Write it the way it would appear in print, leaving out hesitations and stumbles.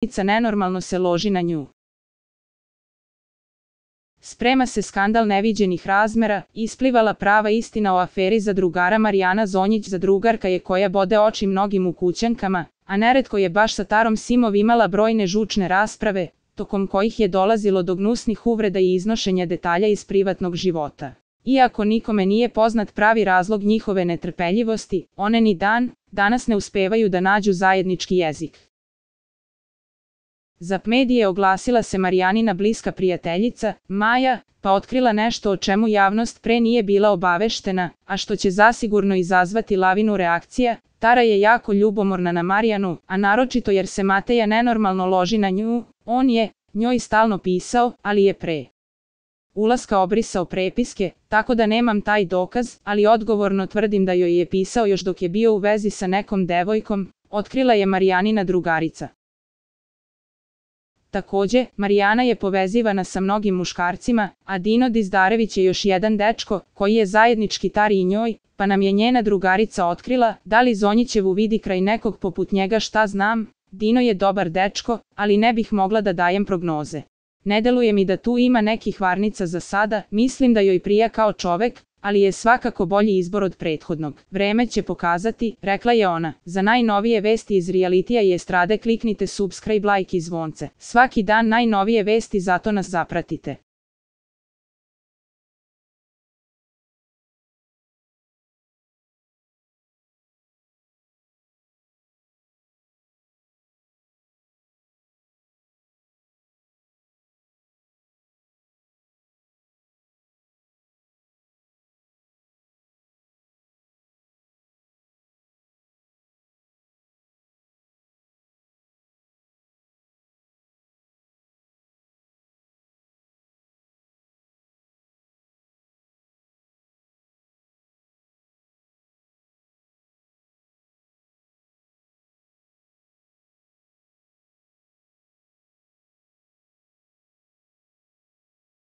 nenormalno se loži na nju. Sprema se skandal neviđenih razmera, isplivala prava istina o aferi zadrugara Marijana Zonjić. Zadrugarka je koja bode oči mnogim ukućankama, a neretko je baš sa Tarom Simov imala brojne žučne rasprave, tokom kojih je dolazilo do gnusnih uvreda i iznošenja detalja iz privatnog života. Iako nikome nije poznat pravi razlog njihove netrpeljivosti, one ni danas ne uspevaju da nađu zajednički jezik. Za medije oglasila se Marijanina bliska prijateljica, Maja, pa otkrila nešto o čemu javnost pre nije bila obaveštena, a što će zasigurno izazvati lavinu reakcija. Tara je jako ljubomorna na Marijanu, a naročito jer se Mateja nenormalno loži na nju. On je njoj stalno pisao, ali je pre ulaska obrisao prepiske, tako da nemam taj dokaz, ali odgovorno tvrdim da joj je pisao još dok je bio u vezi sa nekom devojkom, otkrila je Marijanina drugarica. Takođe, Marijana je povezivana sa mnogim muškarcima, a Dino Dizdarević je još jedan dečko, koji je zajednički Tari i njoj, pa nam je njena drugarica otkrila. Da li Zonjićevu vidi kraj nekog poput njega, šta znam? Dino je dobar dečko, ali ne bih mogla da dajem prognoze. Ne deluje mi da tu ima nekih varnica za sada, mislim da joj prija kao čovek, ali je svakako bolji izbor od prethodnog. Vreme će pokazati, rekla je ona. Za najnovije vesti iz realitija i estrade kliknite subscribe, like i zvonce. Svaki dan najnovije vesti, zato nas zapratite.